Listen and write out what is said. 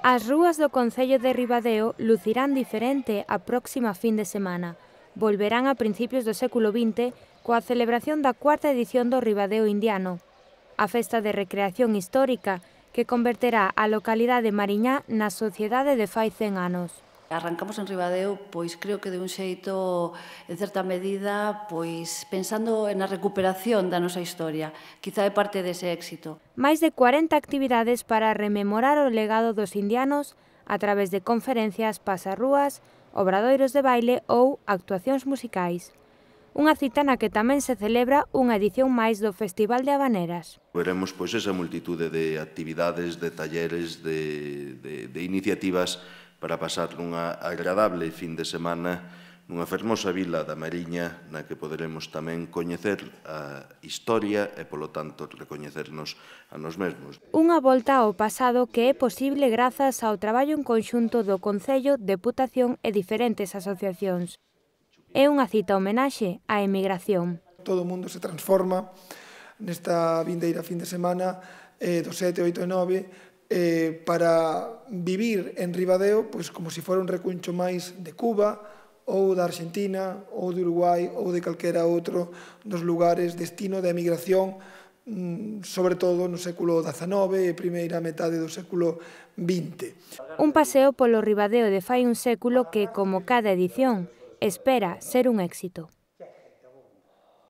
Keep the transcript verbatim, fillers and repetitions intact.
As rúas do concello de Ribadeo lucirán diferente a próxima fin de semana. Volverán a principios do século vinte coa celebración da cuarta edición do Ribadeo Indiano, a festa de recreación histórica que converterá a localidade mariñá na sociedade de fai cen anos. Arrancamos en Ribadeo, pois creo que de un xeito, en certa medida, pois pensando na recuperación da nosa historia. Quizá é parte dese éxito. Máis de cuarenta actividades para rememorar o legado dos indianos a través de conferencias, pasarrúas, obradoiros de baile ou actuacións musicais. Unha cita na que tamén se celebra unha edición máis do Festival de Habaneras. Veremos pois esa multitude de actividades, de talleres, de, de, de iniciativas para pasar unha agradable fin de semana nunha fermosa vila da Mariña na que poderemos tamén coñecer a historia e, polo tanto, recoñecernos a nos mesmos. Unha volta ao pasado que é posible grazas ao traballo en conxunto do Concello, Deputación e diferentes asociacións. É unha cita homenaxe á emigración. Todo o mundo se transforma nesta vindeira fin de semana eh, do sete, oito e nove eh, para vivir en Ribadeo pois, como se fora un recuncho máis de Cuba ou da Argentina ou de Uruguai ou de calquera outro dos lugares destino de emigración, sobre todo no século dezanove e primeira metade do século vinte. Un paseo polo Ribadeo de fai un século que, como cada edición, espera ser un éxito.